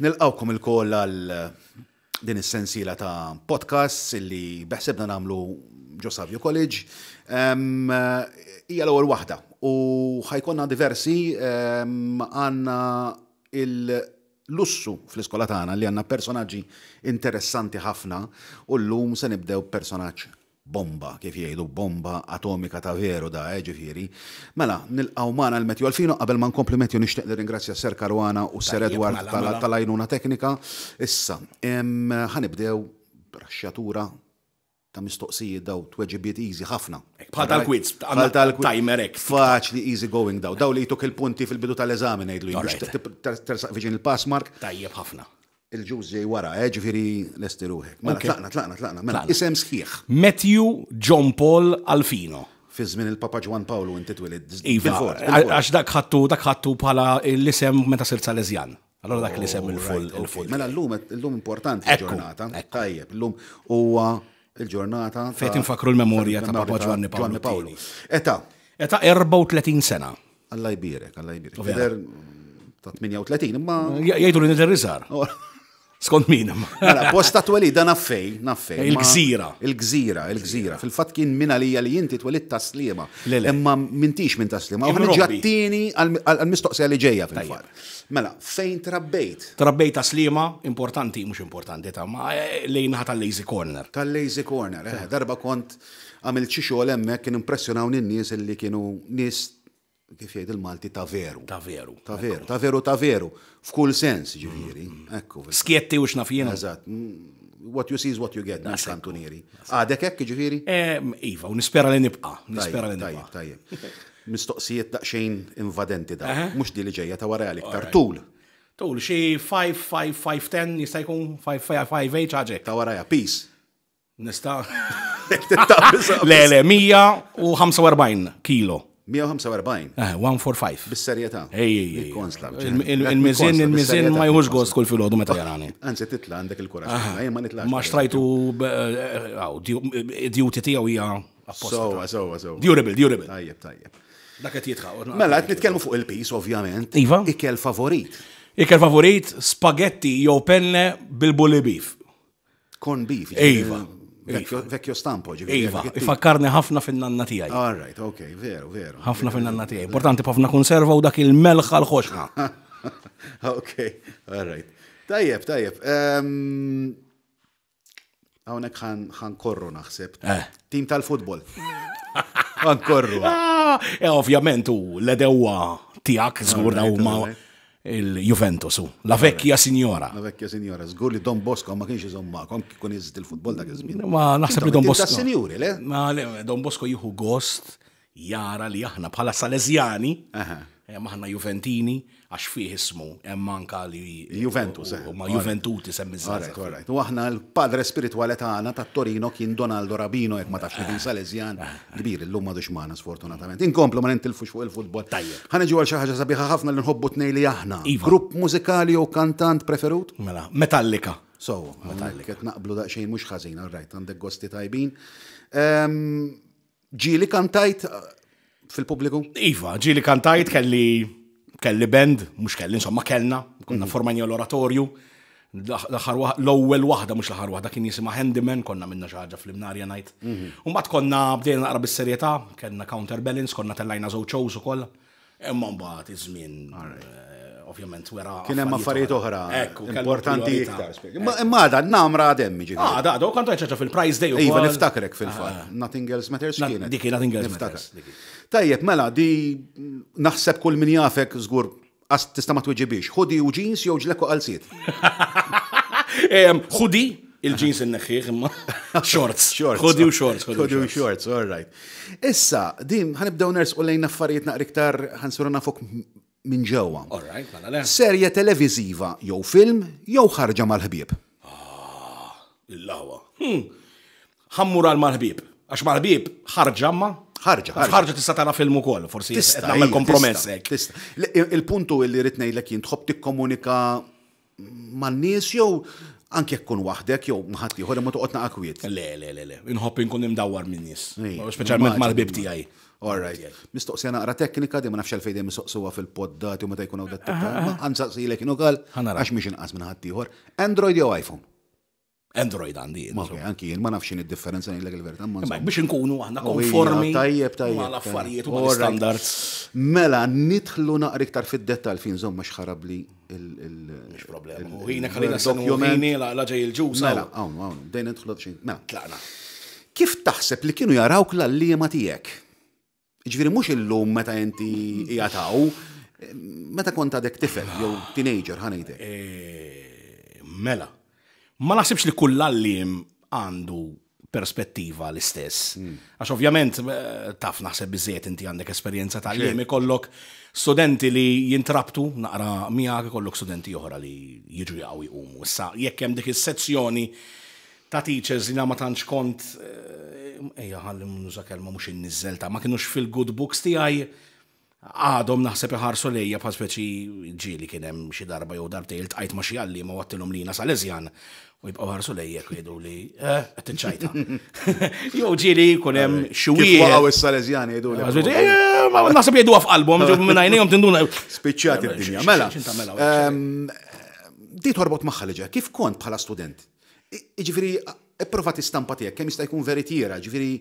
Nilqgħukom ilkoll għal din is-sensiela ta' podcasts illi beħsibna nagħmlu ġo Savio College. Hija l-ewwel waħda u ħajkonna diversi għandna il-lussu fl-iskola tagħna li għandna personaġġi interessanti ħafna u llum se nibdew b'personaġġ Bomba, kif jgħidu, bomba atomika ta' veru da, eh, ġifieri. Mela, nilqgħu magħna 'l Matthew Alfino, qabel ma nkompli Matthew nixtieq nirringrazzja Sir Caruana u Sir Edward tal-għajnuna teknika. Issa, ħa nibdew b'raxxjatura ta' mistoqsijiet daw tweġibiet easy ħafna. Bħal tal-quiz, bħal tal-quiz. Timer hekk. Faċli easy going daw. Daw li jtuk il-punti fil-bidu tal-eżami ngħidlu jien biex tersaq viċin il-pass mark. Tajjeb ħafna. Il-ġuż ġej wara, eh, ġifieri lesti ruħek. Mela, tlaqna, tlaqna, tlaqna. Mela, isem sħiħ. Matthew John Paul Alfino. Fi żmien il-Papa Ġwann Pawlu inti twilidt. Iva, għax dak ħadtu, dak ħadtu bħala l-isem meta sirt Salesjan. Allora dak l-isem il-full. Il-full. Mela llum illum importanti l-ġurnata. Tajjeb, illum huwa il-ġurnata. Fejn tinfakru l-memorja ta' Papa Ġwanni Pawlu. Età. Età 34 sena. Alla jbierek, Alla jbierek. Tidher ta' 38, imma. Jgħidu li nidher iżgħar. Oh. Skont min. Mela, post ta' twelid, da naffej, naffej. Il-gżira. Il-gżira, il-gżira. Fil-fatt kien minn għalija li inti twelid ta' Sliema. Imma mintix minn ta' Sliema. U ħanġa t-tieni għal-mistoqsija li ġejja fil-fatt. Mela, fejn trabbejt? Trabbejt ta' Sliema, importanti, mhux importanti ta' ma eh, lejn tal-Lazy Corner. Tal-Lazy Corner, eh, darba kont Għamilt xi xogħol hemmhekk kien impressjonawni n-nies illi kienu nies kif jgħid il-Malti ta' veru. Ta' veru. Ta' veru, ta' veru, ta' veru. F'kull sens, ġifieri. Ekku. Skjetti u x'naf jiena. Eżatt. What you see is what you get, mhux kantunieri. Għadek hekk, ġifieri? Iva, u nispera li nibqa'. Nispera li nibqa'. Tajjeb, tajjeb. Mistoqsijiet daqsxejn invadenti dawn. Mhux di li ġejja ta' wara iktar. Tul. Tul, xi 5, 5, 5, 10 jista' jkun 5, 5, 5, 8 ħaġa hekk. Ta' warajha, peace. Nista. Le, le, 145 kilo. 145? Eh, 145. Bis-serjetà. Ej, ej, Il-mizin, il-mizin ma jħux gost kull filgħodu meta jarani. Anzi, titla għandek il-kuraġġ. Ah. Jien ma nitlax. Ma xtrajtu eh, duty tiegħu hija apposta. Sowa, sowa, sowa. Durable, durable. Tajjeb, tajjeb. Dak qed jitħaq. Mela, qed nitkellmu fuq il-pis, ovvjament. Iva. Ikel favorit. Ikel favorit, spaghetti jew penne bil-bully beef. Corn beef. Iva. Vecchio stampo, ġifieri. Iva, ifakkarni ħafna fin-nanna tiegħi. All right, ok, veru, veru. Ħafna fin-nanna tiegħi. Importanti ħafna konserva u dak il-melħ għal-ħoxna. Ok, all right. Tajjeb, tajjeb. Ehm, hawnhekk ħan korru naħseb. Eh. Tim tal-futbol. Ħan korru. Ah, eh, ovvjament u l-edewa tiegħek żgur huma Il-Juventus hu. La vecchia signora. La vecchia signora. Żgur li Don Bosco ma kienx iżomm magħkom kif ikun jeżisti l-futbol dak iż-żmien. Ma naħseb li Don Bosco. Tas-sinjuri, le? Ma le, Don Bosco jieħu gost jara li aħna bħala Salesjani, hemm aħna Juventini, għax fih ismu hemm anka li Juventus, eh. Ma Juventuti semmi żgħażagħ. All right, U aħna l-padre spiritwali tagħna tat-Torino kien Donaldo Rabino jekk ma tafx li kien Salesjan. Kbir, illum m'għadux magħna sfortunatament. Inkomplu ma nintilfux fuq il-futbol. Tajjeb. Ħa niġu għal xi ħaġa sabiħa ħafna li nħobbu tnej li aħna. Iva. Grupp mużikali jew kantant preferut? Mela, Metallica. So, Metallica. Qed naqblu daqsxejn mhux ħażin, all right, għandek gosti tajbin. Ehm, ġieli kantajt eh, fil-pubbliku? Iva, ġieli kantajt kelli kelli band, mhux kelli, insomma kellna, konna mhm. formajna l-oratorju. L-aħħar l-ewwel waħda mhux l-aħħar waħda kien jisimha Handyman, konna minna xi ħaġa fl-imnarja ngħid. Mhm. U mbagħad konna bdejna naqra bis-serjetà, kellna counterbalance, konna tellajna żewġ shows ukoll. Imma mbagħad iż-żmien eh, ovvjament wera. Kien hemm affarijiet oħra importanti iktar. Imma għadha namra għadem jiġifieri. Ah, għadha, u kontu ċaċa fil-prize day. Iva niftakrek fil-fatt. Ah. Nothing else matters kienet. Dik nothing else matters. Tajjeb, mela, di naħseb kull min jafek żgur Qas tista' ma twiġibhiex. Hoodie u jeans jew ġlekk u qalziet? Hoodie, il-jeans inneħħih imma shorts. Shorts. Hoodie u shorts. Hoodie u shorts, all right. Issa, din ħanibdew nersqu lejn affarijiet naqra iktar ħansiru nafuk minn ġewwa. All right, mela le. Serje televiżiva jew film jew ħarġa mal-ħbieb? Ah, il-lawa. Hmm. Ħa mmur għal mal-ħbieb. Għax mal-ħbieb ħarġa ma. Ħarġa. Ħarġa tista' tara film ukoll, forsi tista' nagħmel kompromess hekk. Tista'. Il-puntu li rrid ngħidlek jien tħobb tikkomunika man-nies jew anke jekk kun waħdek jew ma' ħadd ieħor imma toqgħod naqa' kwiet. Le, le, le, le. Inħobb inkun imdawwar min-nies. Speċjalment mal-ħbieb tiegħi. All right. Mistoqsija naqra teknika, di ma nafx għalfejn dejjem mistoqsuha fil-poddati u meta jkun hawn dat Ma nsaqsilek jien ukoll għax mhix inqas minn ħaddieħor. Android jew iPhone? Android għandi. Ok, anki jien ma nafx x'inhi d-differenza ngħidlek il-verità. Ma biex inkunu aħna konformi tajjeb tajjeb mal-affarijiet u mal-standards. Mela nidħlu naqra iktar fid-dettall fin żomm għax ħarabli il- Mhux problema. U ħinek ħalina dokument la ġej il-ġus. Mela, hawn hawn, bdejna nidħlu xejn. Mela. Tlaqna. Kif taħseb li kienu jarawk l-għalliema tiegħek? Ġifieri mhux illum meta inti qiegħed hawn, meta kont għadek tifel jew teenager ħa ngħidlek. Eh, mela. Ma naħsibx li kull għalliem għandu perspettiva l-istess. Hmm. Għax ovvjament eh, taf naħseb biżejjed inti għandek esperjenza ta' għalliem ikollok studenti li jintrabtu naqra miegħek ikollok studenti oħra li jiġu jaqgħu jqumu. Issa jekk hemm dik is-sezzjoni ta' teachers li ma tantx kont ejja ħalli nuża kelma mhux inniżżel ta' ma kinux fil-good books tiegħi għadhom naħseb iħarsu lejja bħal speċi ġieli kien hemm xi darba jew darbtejn iltqajt ma' xi għalliema u għadtilhom li jiena Salesjan u jibqgħu ħarsu lejja u jgħidu li eh qed tiċċajta. Jew ġieli jkun hemm xi wieħed. Kif waqgħu is-Salesjani jgħidu li. Eh, ma naħseb jgħiduha f'qalbhom ġew minn għajnejhom tinduna. Spiċċat id-dinja. Mela. Ehm, di torbot magħha li ġej. Kif kont bħala student? Jiġifieri, ipprova tistampa tiegħek kemm jista' jkun veritiera, jiġifieri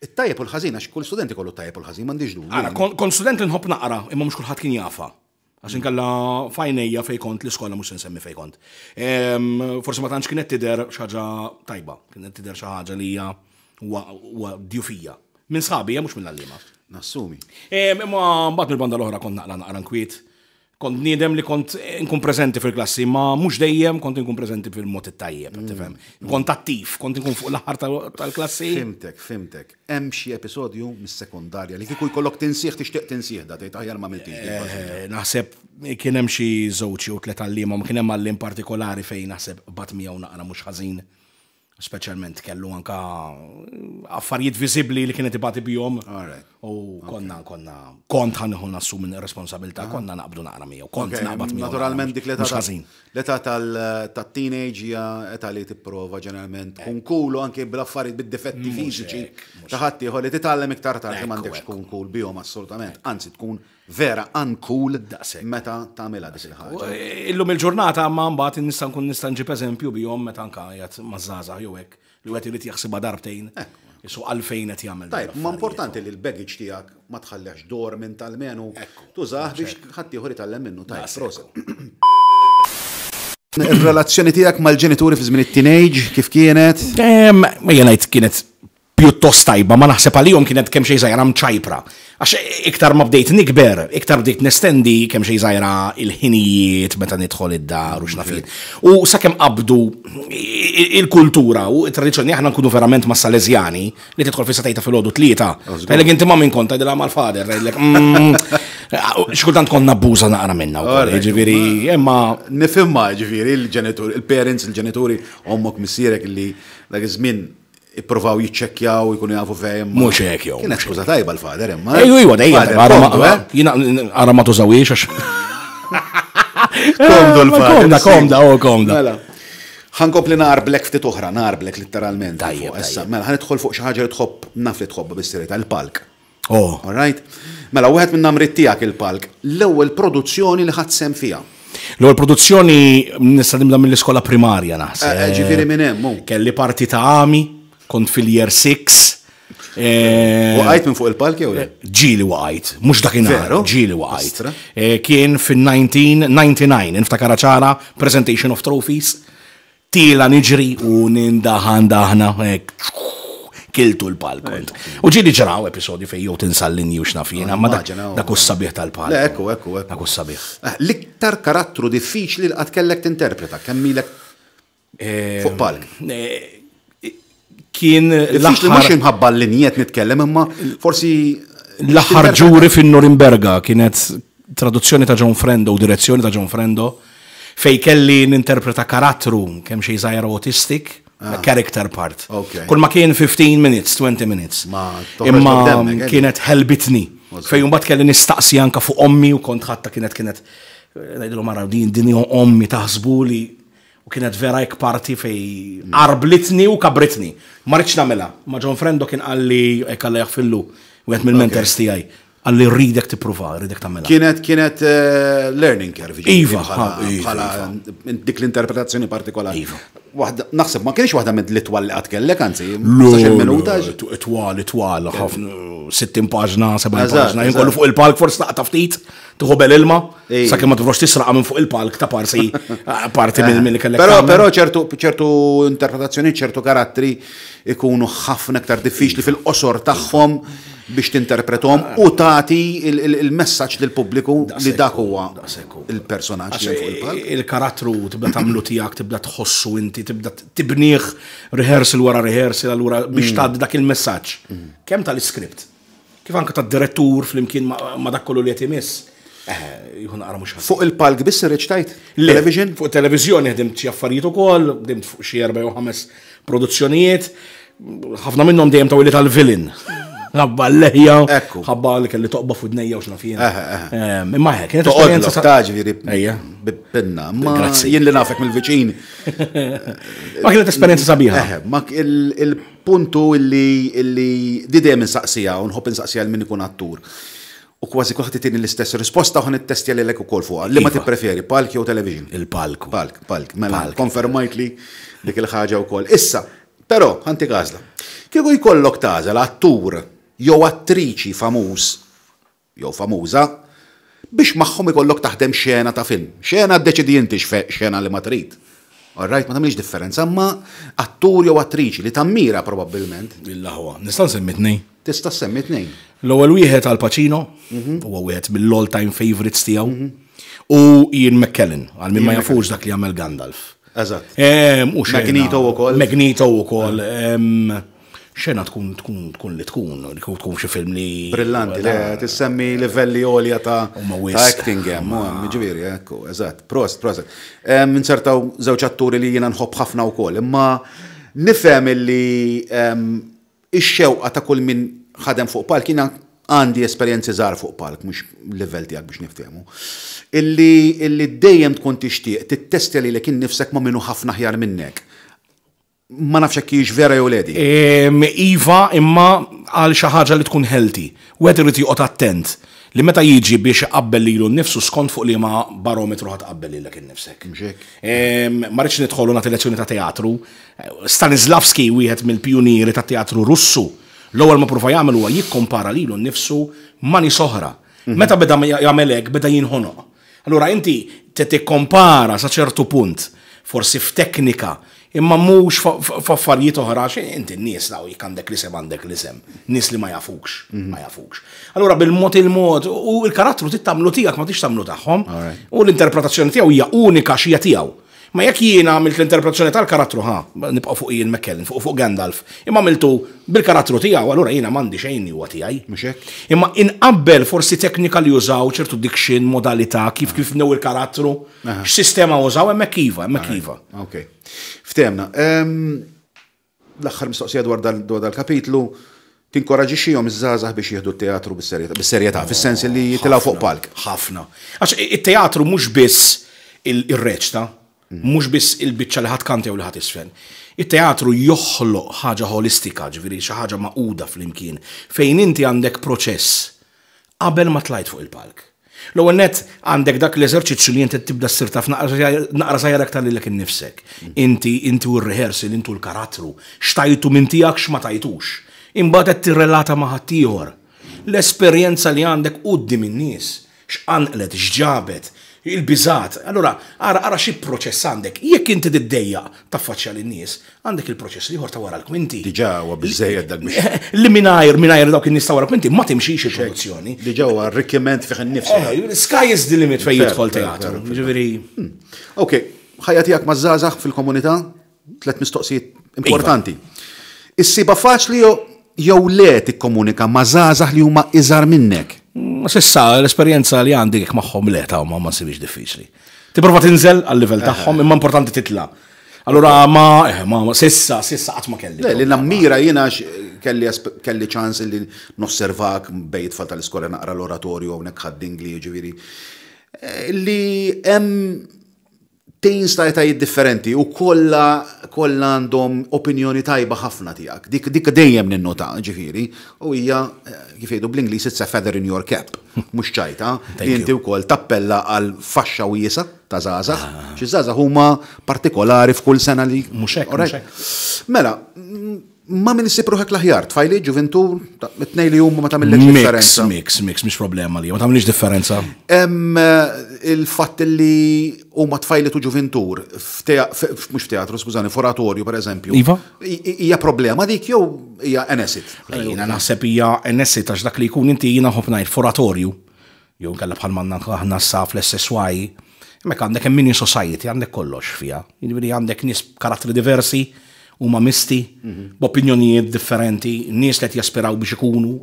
it-tajjeb u l-ħażin għax kull student ikollu t-tajjeb u l-ħażin m'għandix dubju. Ara, kont student li nħobb naqra, imma mhux kulħadd kien jafha. Għax inkella f'għajnejja fejn kont l-iskola mhux se nsemmi fejn kont. Forsi ma tantx kienet tidher xi ħaġa tajba, kienet tidher xi ħaġa li hija huwa djufija. Minn sħabi, mhux mill-għalliema. Nassumi. Imma mbagħad mill-banda l-oħra kont naqra naqra nkwiet. Kont bniedem li kont nkun preżenti fil-klassi, ma mhux dejjem kont inkun preżenti fil-mod it-tajjeb, mm. tifhem. Kont attiv, kont inkun fuq l-aħħar tal-klassi. Fimtek, fimtek. Hemm xi episodju mis-sekondarja li kieku jkollok tinsih tixtieq tinsih da tgħid aħjar ma miltix. Eh, naħseb kien hemm xi żewġ jew tliet għalliema, ma kien hemm għalliem partikolari fejn naħseb bat miegħu naqra mhux ħażin. Speċjalment kellu anka affarijiet viżibbli li kienet ibati bihom. U konna, konna, kont ħanħu nassu minn responsabilità, ah. konna naqbdu naqra miegħu, kont naqbad miegħu. Naturalment dik l-età l-età tal-teenage hija età li tipprova ġeneralment tkun cool u anke bl-affarijiet bid-difetti fiżiċi ta' ħaddieħor li titgħallem iktar tard li m'għandekx tkun cool bihom assolutament, anzi tkun vera uncool meta tagħmilha dik il-ħaġa. Eh, illum il-ġurnata ma mbagħad nista' nkun nista' nġib eżempju bihom meta anka qiegħed maż-żgħażagħ jew hekk li wieħed irid jaħsibha darbtejn. Isu għalfejn qed jagħmel. Tajb, ma importanti li l-baggage tiegħek ma tħallehx dormant almenu tużah biex ħaddieħor jitgħallem minnu. Tajb, proset. Ir-relazzjoni tiegħek mal-ġenituri fi żmien it-teenage kif kienet? Ma jien ngħid kienet pjuttost tajba, ma naħseb għalihom kienet kemm xejn żgħira mċajpra. Għax iktar ma bdejt nikber, iktar bdejt nestendi kemm xejn żgħira il-ħinijiet meta nidħol id-dar u x'naf jien. U sakemm qabdu il-kultura u t-tradizzjoni aħna nkunu verament ma' Salesjani li tidħol fis-satejta filgħodu tlieta. Tgħidlek inti ma' min kont tgħidilha mal-father, tgħidlek mm, xi kultant kont nabbuża naqra minnha wkoll, jiġifieri imma Nifhimha jiġifieri il-ġenitur, il-parents, il-ġenituri, ommok, missierek li dak iż-żmien Ippruvaw jiċċekkjaw, jkunu jafu fejn. Mhux hekk jew. Kienet skuża tajba l-fader imma. Ejju iwa dejjem. Eh? Jiena ara ma tużawiex għax. Komdu l-fader. Komda, komda, oh komda. Mela. Ħankompli narblek ftit oħra, narblek litteralment. Tajjeb. Issa, mela ħanidħol fuq xi ħaġa li tħobb, naf li tħobbha bis-serjetà, il-palk. Oh. All right? Mela, wieħed minn namrit tiegħek il-palk, l-ewwel produzzjoni li ħadt sehem fiha. L-ewwel produzzjoni nista' nibda mill-iskola primarja naħseb. Eh, eh, ġifieri minn hemm. Kelli parti ta' għami, kont fil-year 6. Eh, waqajt minn fuq il-palk jew le? Ġieli waqajt, mhux dakinhar, ġieli waqajt. Kien fin-1999, niftakara ċara, presentation of trophies. Tiela' niġri u nindaħan daħna hekk kiltu l-palk kont. U ġieli ġraw episodji fejn jew tinsa l-linji u x'naf jiena, ma dak hu s-sabiħ tal-palk. Le, ekku, ekku, ekku. Dak hu s-sabiħ. Eh, l-iktar karattru diffiċli li qatt kellek tinterpreta, kemm ilek eh, fuq palk? Eh, kien l-aħħar. Mhux imħabba l-linjiet nitkellem, imma forsi. L-aħħar ġuri fin-Norimberga kienet traduzzjoni ta' John Frendo u direzzjoni ta' John Frendo Fejn kelli ninterpreta karattru kemm xejn żgħira autistic, ah. character part. Kull ma kien 15 minutes, 20 minutes. Imma eh? kienet ħelbitni. Fejn mbagħad kelli nistaqsi anka fuq ommi u kont ħatta kienet kienet eh, ngħidlu mara din din ommi taħsbu li U kienet vera hekk parti fej qarblitni u kabritni. Ma ridtx nagħmilha. Ma John Frendo kien qalli hekk Alla jaħfillu, wieħed mill-mentors tiegħi. Qalli rridek tippruva, rridek tagħmilha. Kienet kienet eh, learning curve. Iva, bħala dik l-interpretazzjoni partikolari. Iva. Waħda naħseb ma kienx waħda minn l-itwal li qatt kellek, anzi, minuta. Twal, twal, ħafna 60 paġna, 70 paġna, jien kollu fuq il-palk forsi taqta' ftit, tieħu bel ilma, sakemm ma tiprox tisraqa minn fuq il-palk ta' parsi parti minn li kellek. Però però ċertu ċertu interpretazzjoni, ċertu karattri ikunu ħafna aktar diffiċli fil-qosor tagħhom biex tinterpretom u tagħti il-messaġġ lill-pubbliku li dak huwa il-personaġġ li fuq il-palk. Il-karattru tibda tagħmlu tiegħek, tibda tħossu inti, tibda tibnih rehearsal wara rehearsal allura biex mm. tgħaddi dak il-messaġġ. Mm. Kemm tal-iskript, kif anke tad-direttur flimkien ma' dak kollu li qed imiss. Eh, jieħu naqra mhux Fuq il-palk biss irreċtajt? Television? Fuq televiżjoni ħdimt xi affarijiet ukoll, ħdimt fuq xi erba' jew ħames produzzjonijiet. Ħafna minnhom dejjem tawili tal-villain. Ħabba l-leħja, ħabba li kelli toqba f'udnejja u x'naf jien. Imma hekk, kienet esperjenza ta' ġifieri pinna. Ma jien li nafek mill-viċin. Ma kienet esperjenza sabiħa. Ma il-puntu illi di dejjem insaqsija u nħobb insaqsija l min ikun attur. U kważi kulħadd itini l-istess risposta u ħa nittestja lilek ukoll fuqha. Liema iva. tippreferi, palk jew television? Il-palk. Palk, palk. Mela, konfermajtli dik il-ħaġa wkoll. Issa, però, ħantik għażla. Kieku jkollok tagħżel attur jew attriċi famuż jew famuża biex magħhom ikollok taħdem xena ta' film. Xena ddeċidi inti xena li ma trid. All right, ma tagħmilx differenza, imma attur jew attriċi li tammira probabbilment. L-aħwa. Nista' nsemmi tnejn? Tista' ssemmi tnejn. L-ewwel wieħed Al Pacino, huwa wieħed mill-all time favorites tiegħu. U Ian McKellen, għal min ma jafux dak li għamel Gandalf. Eżatt. Magneto ukoll. Magneto ukoll. Xena tkun tkun tkun li tkun, li tkun xi film li. Brillanti, le tissemmi livelli għolja ta' acting hemm, ġifieri, ekku, eżatt. Prost, prost. Insertaw żewġ atturi li jiena nħobb ħafna wkoll, imma nifhem illi Ix-xewqa ta' kull min ħadem fuq palk, jiena għandi esperjenzi żgħar fuq palk, mhux livell tiegħek biex niftehmu, illi illi dejjem tkun tixtieq tittestja lilek innifsek ma' min hu ħafna aħjar minnek. Ma nafx hekk hijiex vera jew le din. Iva, imma għal xi ħaġa li tkun healthy. Wieħed irid joqgħod attent li meta jiġi biex iqabbel lilu nnifsu skont fuq liema barometru ħa tqabbel lilek innifsek. Mhux hekk? Ma rridx nidħol u nagħti lezzjoni ta' teatru, Stanislavski, wieħed mill-pijunieri tat-teatru Russu, l-ewwel ma pruva jagħmel huwa jikkompara lilu nnifsu ma' nies oħra. Meta beda jagħmel hekk beda jinħonoq. Allura inti tikkompara sa ċertu punt, forsi f'teknika, imma mhux f'affarijiet oħra għax inti n-nies daw jekk għandek l-isem għandek l-isem. Nies li ma jafukx, ma jafukx. Allura bil-mod il-mod u l-karattru trid tagħmlu tiegħek ma tridx tagħmlu tagħhom. U l-interpretazzjoni tiegħu hija unika għax hija tiegħu. Ma jekk jiena għamilt l-interpretazzjoni tal-karattru, ħa, nibqgħu fuq Ian McKellen, fuq fuq Gandalf, imma għamiltu bil-karattru tiegħu, allura jiena m'għandi xejn li huwa tiegħi. Mhux hekk? Imma inqabbel forsi teknika li użaw, ċertu diction, modalità, kif kif bnew il-karattru, x'sistema użaw, hemmhekk iva, hemmhekk iva. Ok. Ftehemna. L-aħħar mistoqsija dwar dal-kapitlu, tinkoraġixxihom iż-żgħażagħ biex jieħdu t-teatru bis-serjetà, fis-sens li jitilgħu fuq palk? Ħafna. Għax it-teatru mhux biss ir-reċta, mhux biss il-biċċa li ħa tkanta jew li ħa tiżfen. It-teatru joħloq ħaġa ħolistika, ġifieri xi ħaġa magħquda flimkien, fejn inti għandek proċess qabel ma tlajt fuq il-palk. L-ewwel nett għandek dak l-eżerċizzju li inti tibda ssir taf naqra żgħir aktar lilek innifsek. Inti, inti u r-rehearsal, inti u l-karattru, x'tajtu minn tiegħek x'ma tajtux. Imbagħad qed tirrelata ma' ħaddieħor. L-esperjenza li għandek quddiem in-nies, x'qanqlet, x'ġabet, il-biżgħat. Allura ara ara xi proċess għandek. Jekk inti tiddejjaq taffaċċja lin-nies, għandek il-proċess l-ieħor ta' wara l-kwinti. Diġà huwa biżżejjed dak biex. Li mingħajr mingħajr dawk in-nies ta' wara l-kwinti ma timxix il-produzzjoni. Diġà huwa arrikkiment fih innifsu. Eh, sky is the limit fejn jidħol teatru. Ġifieri. Hmm. Ok, ħajja tiegħek maż-żgħażagħ fil-komunità, tliet mistoqsijiet importanti. Iva. Issibha faċli jew le tikkomunika ma' żgħażagħ li huma iżgħar minnek? Mm, sissa l-esperjenza li għandi jekk magħhom le ta' ma nsibhiex diffiċli. Tipprova tinżel għal-livell tagħhom imma importanti titla'. Allura ma, eh, ma, sissa, sissa qatt ma kelli. Le, li nammira jiena kelli kelli ċans li nosservak bejn tfal tal-iskola naqra l-oratorju hawnhekk ħaddingli jiġifieri. Eh, li hemm Teens ta' etajiet differenti u kollha kollha għandhom opinjoni tajba ħafna tiegħek. Dik dik dejjem ninnota, ġifieri, u hija kif jgħidu bl-Ingliż it's a feather in your cap, mhux ċajta, li inti wkoll tappella għal faxxa wiesgħa ta' żgħażagħ. Xi żgħażagħ huma partikolari f'kull sena li. Mhux hekk, mhux hekk. Mela, Ma min issib ruħek l-aħjar, tfajli, ġuventur, it-tnej li huma ma tagħmillekx differenza. Mix, mix, mhix problema li ma tagħmilx differenza. Hemm eh, il-fatt li huma tfajli tu ġuventur, mhux f'teatru, skużani, f'oratorju pereżempju. Iva? Hija problema dik jew hija enesit? Jiena naħseb hija enesit għax dak li jkun inti jiena nħobb ngħid f'oratorju. Jew inkella bħal manna aħna sa fl-SSY, hemmhekk għandek hemm mini society, għandek kollox fiha. Jiġifieri għandek nies b'karattri diversi, huma misti, mhm. b'opinjonijiet differenti, nies li qed jaspiraw biex ikunu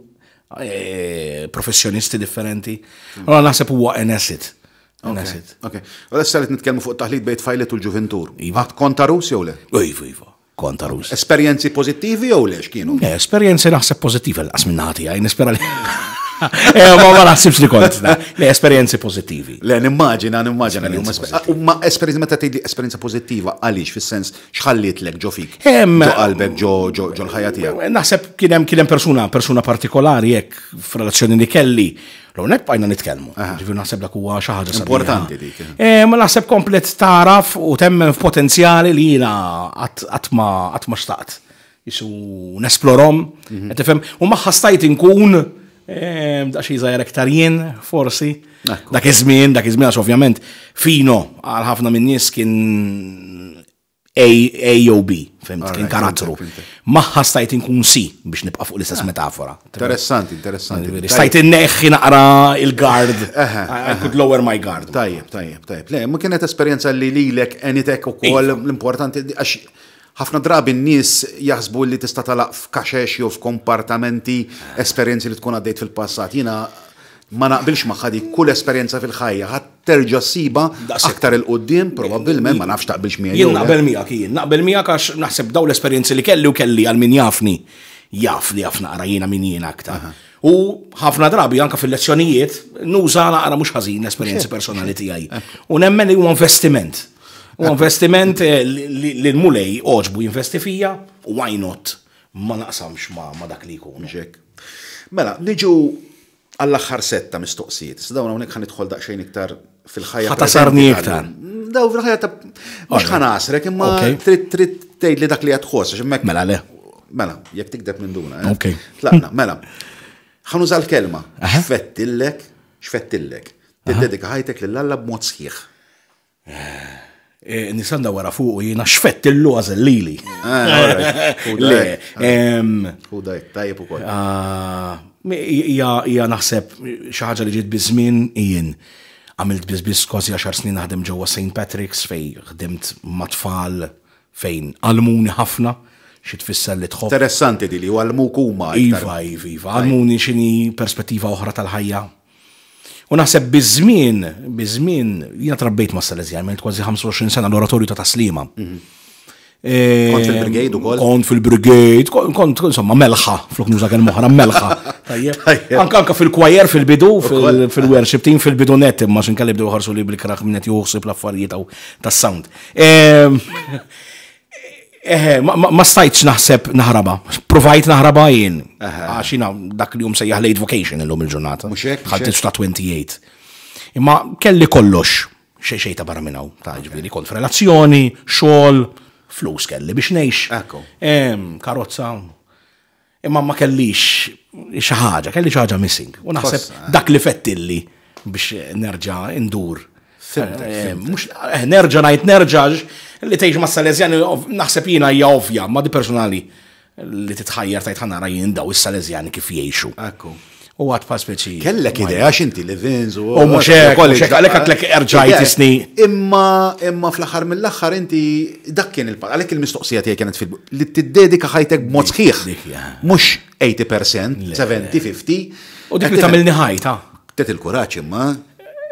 eh, professjonisti differenti. Mhm. Allora naħseb huwa an asset. An asset. Ok. U issa li nitkellmu fuq taħlit bejn tfajlet u l-ġuventur. Iva. Konta Rus jew le? Iva, iva. Konta Rus. Esperjenzi pożittivi jew le x'kienu? Le, esperjenzi naħseb pożittivi l-qas minn naħa tiegħi, nispera li. Eh, ma ma naħsibx li kont. Le, esperjenzi pożittivi. Le, nimmaġina, nimmaġina li huma ma esperjenzi meta tgħidli esperjenza pożittiva għaliex fis-sens x'ħallitlek ġo fik? Ġo qalbek ġo ġo l-ħajja tiegħek. Naħseb kien hemm kien hemm persuna persuna partikolari hekk f'relazzjoni li kelli L-ewwel bqajna nitkellmu. Ġifieri naħseb dak huwa xi ħaġa importanti dik. Eh, ma naħseb komplet taraf u temmen f'potenzjali li jiena qatt ma qatt ma xtaqt. Isu nesplorom, mhm. qed tifhem, u magħha stajt inkun eh, daqsxejn żgħir aktar jien forsi. Dak iż-żmien, dak iż-żmien għax ovvjament fino għal ħafna min-nies kien A, A jew B, fimt, kien karattru. Magħha stajt inkun C biex nibqa' fuq l-istess ah, metafora. Interessanti, interessanti. Stajt inneħħi naqra il-guard. I could lower my guard. Tajjeb, tajjeb, tajjeb. Le, ma kienet esperjenza li lilek enitek ukoll iva. l-importanti għax ħafna drabi n-nies jaħsbu li tista' talaq f'kaxex jew f'kompartamenti esperjenzi li tkun għaddejt fil-passat. Jiena Ma naqbilx magħha dik, kull esperjenza fil-ħajja ħa terġa' ssibha aktar 'il quddiem probabbilment, ma nafx taqbilx miegħi jew le. Jien naqbel miegħek, jien naqbel miegħek għax naħseb dawn l-esperjenzi li kelli u kelli għal min jafni jaf li jaf naqra jiena min jien aktar. U ħafna drabi anke fil-lezzjonijiet nuża naqra mhux ħażin l-esperjenzi personali tiegħi. U nemmen li huwa investiment. Huwa investiment eh, li l-Mulej għoġbu jinvesti fija, why not? Ma naqsamx ma dak li jkun. Mela, niġu Għall-aħħar sett ta' mistoqsijiet. Issa dawn hawnhekk ħa nidħol daqsxejn iktar fil-ħajja. Ħa tasarni iktar. Daw fil-ħajja ta' mhux ħa nasrek imma trid trid tgħidli dak li qed tħoss għax hemmhekk. Mela le. Mela, jekk tikdeb minn duna. Eh? Ok. Tlaqna, mela. Ħa nuża l-kelma. X'fettillek, x'fettillek. Tiddedika ħajtek lil Alla b'mod sħiħ. Eh, nista' ndawwara fuq u jiena xfettillu għażel lili. Eh, le, U dajk, tajjeb ukoll. Ah, hija naħseb xi ħaġa li ġiet biż-żmien jien għamilt biss biss kważi għaxar snin naħdem ġewwa St. Patrick's fej ħdimt ma' tfal fejn għallmuni ħafna xi tfisser li tħobb. Interessanti di li għallmuk huma. Iva, iva, iva, għallmuni x'inhi perspettiva oħra tal-ħajja. U naħseb biż-żmien, biż-żmien, jiena trabbejt ma' Salesian, għamilt kważi 25 sena l-oratorju ta' Taslima. Mhm. Eh, kont fil-brigade ukoll? Kont fil-brigade, kont insomma melħa, flok nuża kelma oħra, melħa. Anka anka fil-kwajer fil-bidu, fil-worship team fil-bidu net, imma x'inkelli bdew ħarsu li bil-kraħ minn qed juħsib l-affarijiet tas-sound. Ehm, Eħe, ma stajtx naħseb naħraba. Provajt naħraba jien. Għax jiena dak li jum sejjaħ late vocation illum il-ġurnata. Mhux hekk. Ħadd ta' 28. Imma kelli kollox xejn xejn ta' barra minn hawn. Ta' ġifieri kont f'relazzjoni, xogħol, flus kelli biex ngħix. Karozza. Imma ma kellix xi ħaġa, kelli xi ħaġa missing. U naħseb eh. dak li fettilli biex nerġa' indur. Eh, mhux eh, nerġa' ngħid nerġa' li tgħix ma' Salesjani naħseb jiena hija ovvja, ma di personali li titħajjar tajt ħanara jien daw is-Salesjani kif jgħixu. Ekku. U għad pa speċi. Kellek idea x'inti li Vinz u. U mhux hekk, mhux hekk, għalhekk għadlek erġajt isni. Imma imma fl-aħħar mill-aħħar inti dak kien il għalhekk il-mistoqsija tiegħi kienet fil li tiddedika ħajtek b'mod sħiħ. Mhux 80%, 70, 50. U dik li tagħmilni ħajta. Tet il-kuraġġ imma.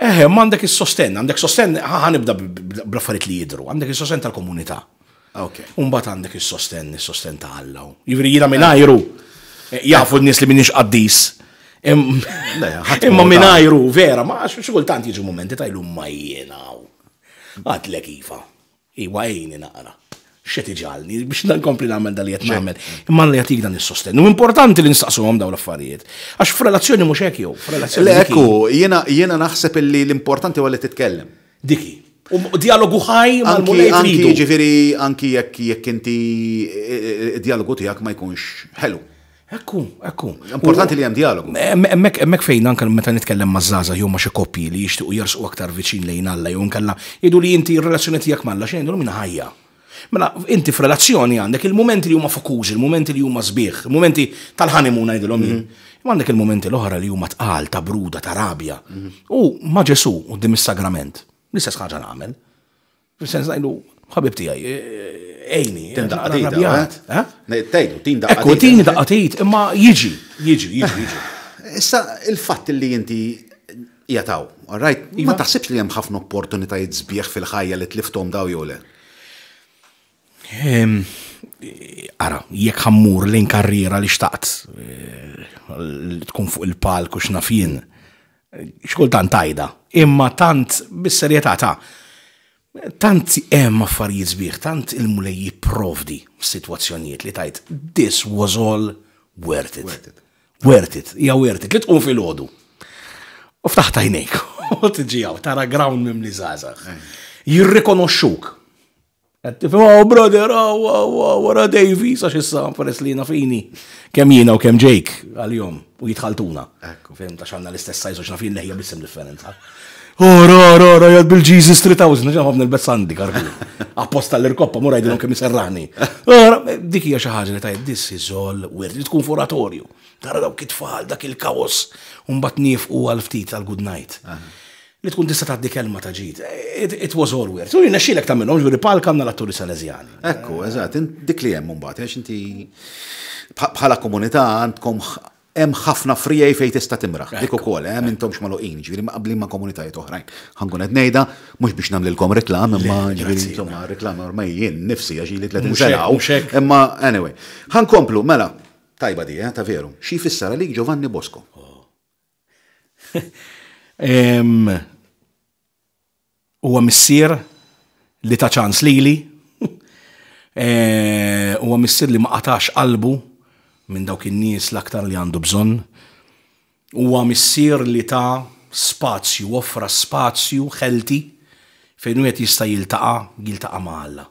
Eħe, ma għandek is-sostenn, għandek sostenn, ħanibda bl-affarijiet li jidhru, għandek is-sostenn tal-komunità. Ok. Umbat għandek is-sostenn, is-sostenn ta' Alla. Jiġifieri jiena mingħajru eh, jafu n-nies li minix qaddis. Imma mingħajru, vera, ma xi kultant jiġu momenti tajlu ma jiena. Għadlek iva. Iwa għini naqra. X'qed iġagħalni biex nkompli nagħmel dal li qed nagħmel. Imma Alla jagħtik dan is-sostenn. U importanti li nistaqsuhom dawn l-affarijiet. Għax f'relazzjoni mhux hekk jew, f'relazzjoni. Le ekku, jiena jiena naħseb illi l-importanti huwa li titkellem. Diki. U dialogu ħaj mal-Mulej Anki ġifieri anki jekk jekk inti dialogu tiegħek ma jkunx ħelu. Ekku, ekku. Importanti li hemm dialogu. Hemmhekk hemmhekk fejn anke meta nitkellem ma' żgħażagħ jew ma' xi koppji li jixtiequ jersqu aktar viċin lejn Alla jew inkella jgħidu li inti r-relazzjoni tiegħek m'Alla xejn ngħidulhom jiena ħajja. Mela inti f'relazzjoni għandek il-mumenti li huma fokużi, il-mumenti li huma sbieħ, il-mumenti tal-honeymoon ngħidilhom jien. Imma għandek il-mumenti l-oħra li huma tqal, ta' bruda, ta' rabja. U ma' Ġesù quddiem is-sagrament, l-istess ħaġa nagħmel. Fis-sens ngħidu, ħabib tiegħi, ejni. Tin daqqa eh? eh? Tgħidu, tin daqqa. Ekku, tin daqqa tgħid, imma jiġi, jiġi, jiġi, jiġi. Issa il-fatt li inti jataw, all right, ma iva. taħsibx li hemm ħafna opportunitajiet sbieħ fil-ħajja li tlifthom daw jew le? Ehm, ara, jekk ħammur lejn karriera li xtaqt eh, li tkun fuq il-palk u x'naf jien, X'kultant tgħidha, imma tant bis-serjetà ta' tant hemm affarijiet sbieħ, tant il-Mulej jipprovdi f'sitwazzjonijiet li tgħid this was all worth it. Worth it. Worth it, hija worth it li tqum filgħodu. U ftaħt għajnejk u tiġi hawn tara ground mimli żgħażagħ. Jirrikonoxxuk. Qed tifhem, oh brother, oh, oh, oh, wara Davies, għax issa peress li jiena fini. Kemm jiena u kemm Jake għal-jom u jitħaltuna. Ekku. Fim ta' xanna l-istess sajz u xnafin leħja bissim differenza. Oh, ra, ra, ra, jgħad bil-Jesus 3000, ġan ħobna l-bess għandi, karku. Apposta l-irkoppa, mura jgħidilhom kemm iserraħni. Dik hija xi ħaġa li tajt, this is all weird, li tkun f'oratorju. Tara dawk it-tfal, dak il-kaos, u mbagħad niefqu għal ftit għal good night. Li tkun tista' tgħaddi kelma ta' ġid. It was all weird. U jirnexxielek tagħmilhom, ġifieri palk għandna l-atturi Salesjani. Ekku, eżatt, dik li hemm imbagħad, għax inti bħala komunità għandkom hemm ħafna frijej fejn tista' timraħ. Dik ukoll, eh, m'intomx magħluqin, ġifieri mqabblin ma' komunitajiet oħrajn. Ħa nkun qed ngħidha, mhux biex nagħmlilkom reklam, imma ġifieri insomma reklam ormai jien nifsi għax ili 30 sena. Imma anyway. Ħa nkomplu, mela, tajba di, eh, ta' veru. Xi jfisser għalik Giovanni Bosco? Huwa missier li ta ċans lili. Eh, huwa missier li ma qatax qalbu minn dawk in-nies l-aktar li għandu bżonn. Huwa missier li ta spazju, offra spazju healthy fejn wieħed jista' jiltaqa' jiltaqa' ma' Alla.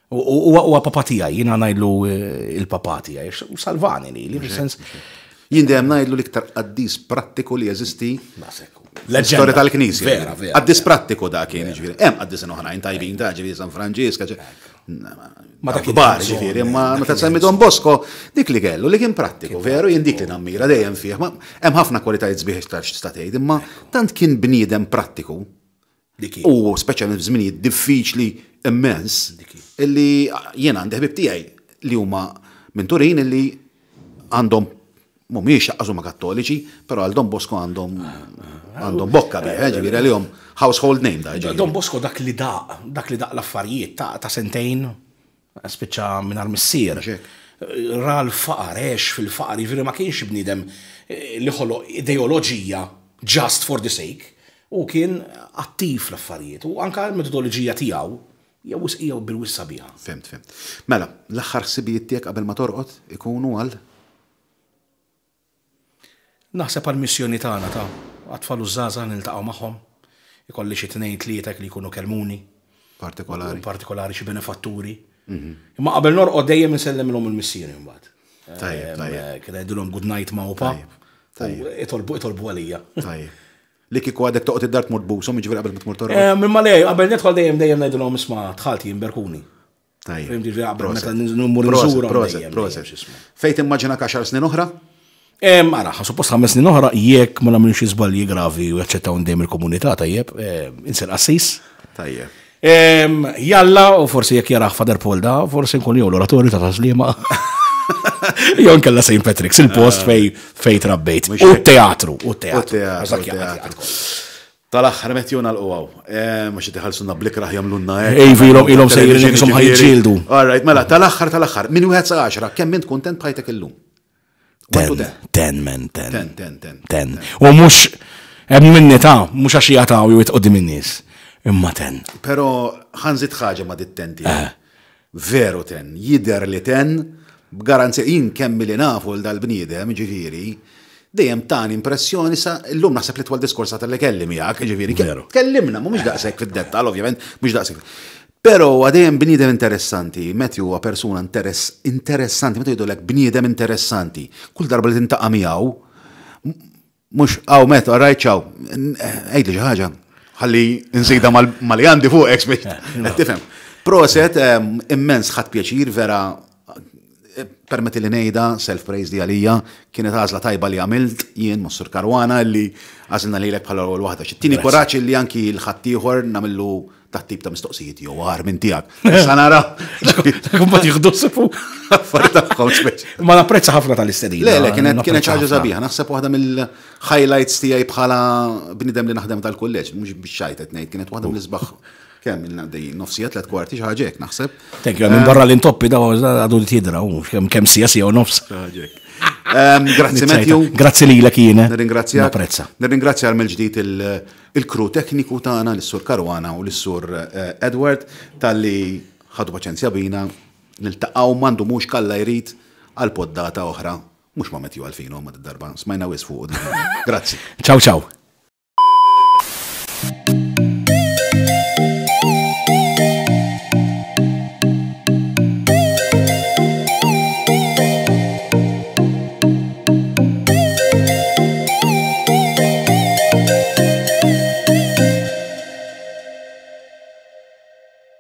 Huwa papa tiegħi, jiena ngħidlu eh, il-papa tiegħi, u salvani li, li fis-sens. Jien dejjem ngħidlu l-iktar qaddis prattiku li jeżisti l-istorja tal-Knisja. Vera, vera. Qaddis prattiku da kien, ġifieri. Hemm qaddisin oħrajn tajbin ta' ġifieri San Franġisk, ma dak kbar ġifieri, imma meta semmi Don Bosco, dik li kellu li kien prattiku, veru, jien dik li nammira dejjem fih. Hemm ħafna kwalitajiet sbieħ iktar x'tista' tgħid, imma tant kien bniedem prattiku Dik hi. U speċjalment f'żminijiet diffiċli immens. Dik hi. Illi jiena għandi ħbieb tiegħi li huma minn Turin illi għandhom mhumiex laqqas huma kattoliċi, però għal Don Bosco għandhom għandhom bokka bih, eh, ġifieri għalihom household name da. ġifieri. Don Bosco dak li daq, dak li daq l-affarijiet ta' ta' sentejn, Spiċċa mingħajr missier. Ra l-faqar, għex fil-faqar, jiġifieri ma kienx bniedem li ħoloq ideoloġija just for the sake. Hu kien attiv fl-affarijiet u anke l-metodoloġija tiegħu hija wisq hija bil-wisq sabiħa. Fhimt, fhimt. Mela, l-aħħar ħsibijiet tiegħek qabel ma torqod ikunu għal? Naħseb għall-missjoni tagħna ta' għat-tfal u ż-żgħażagħ niltaqgħu magħhom. Ikolli xi tnejn tlieta hekk li jkunu kellmuni. Partikolari. Partikolari xi benefatturi. Imma qabel norqod dejjem insellimilhom il-missieri mbagħad. Tajjeb, tajjeb. Kien ngħidilhom good night ma' u pa. Tajjeb. Itolbu itolbu għalija. Tajjeb. Li kieku għadek toqgħod id-dar tmur tbushom, jiġifieri qabel ma tmur torqod. Imma le, qabel nidħol dejjem dejjem ngħidilhom isma' dħalt jien berkuni. Tajjeb. Fhimt ġifieri qabel meta nmur nżurhom. Proset, proset. Fejn timmaġinak għaxar snin oħra? Ara, suppost ħames snin oħra jekk ma nagħmilx xi żbalji gravi u jaċċettaw dejjem il-komunità tajjeb, insir qassis. Tajjeb. Jalla, u forsi jekk jarah Father Paul da, forsi nkun jew l-oratorju ta' Taslima. Jew nkella St. Patrick's, il-post fej fej trabbejt. U teatru, u teatru. U teatru. Tal-aħħar Matthew nagħlqu hawn. Eh, mhux qed iħallsuna bl-ikrah jagħmlulna hekk. Ejvi ilhom ilhom sejrin ishom ħa jiġġieldu. All right, mela tal-aħħar tal-aħħar, minn wieħed sa għaxra, kemm int kuntent b'ħajtek illum? Ten, ten, man, ten. Ten, ten, ten. Ten. U mhux hemm minni ta' mhux għax jagħtaw jew qudiem in-nies. Imma ten. Pero ħa nżid ħaġa ma' dit-ten tiegħek. Veru ten, jidher li ten, b'garanzija, jien kemm li nafu 'l dal-bniedem, ġifieri, dejjem tani impressjoni sa llum naħseb l-itwal diskorsata li kelli miegħek, ġifieri, tkellimna, mhumiex daqshekk fid-dettall, ovvjament, mhux daqshekk. Però huwa dejjem bniedem interessanti, Matthew huwa persuna interess, interessanti, meta jgħidulek bniedem interessanti, kull darba li tintaqa' miegħu, Mhux, aw met, all right, ciao. Għidli xi ħaġa. Ħalli nżida mal li għandi fuq ex biex tifhem. Proset, immens ħadd pjaċir vera permetti li ngħidha self-praise di għalija, kienet għażla tajba li għamilt jien Mossur Karwana li għażilna lilek bħala l-ewwel waħda. X'tini kuraġġ li anki l-ħaddieħor nagħmillu ta' tip ta' mistoqsijiet jew għar minn tiegħek. Issa nara. Kumbat jieħdu sifu. Affarijiet tagħhom speċi. Ma napprezza ħafna tal-istedina. Le, le, kienet kienet ħaġa sabiħa. Naħseb waħda mill-highlights tiegħi bħala bniedem li naħdem tal-kulleġġ, mhux biex xajt qed ngħid, kienet waħda mill-isbaħ kemm ilna għaddejjin, nofsija, tlet kwarti, xi ħaġa hekk naħseb. Thank you, minn barra l-intoppi daw għadu li tidra, kemm sija sija u nofs. Grazzi Matthew. Grazzi lilek jien. Nirringrazzja. Napprezza. Nirringrazzja mill-ġdid il-crew tekniku tagħna lis-Sur Caruana u lis-Sur Edward talli ħadu paċenzja bina. Niltaqgħu ma ndumux k'Alla jrid għal poddata oħra mhux ma' Matthew Alfino imma did-darba smajna wisq fuqu diġà. Grazzi. Ciao ciao.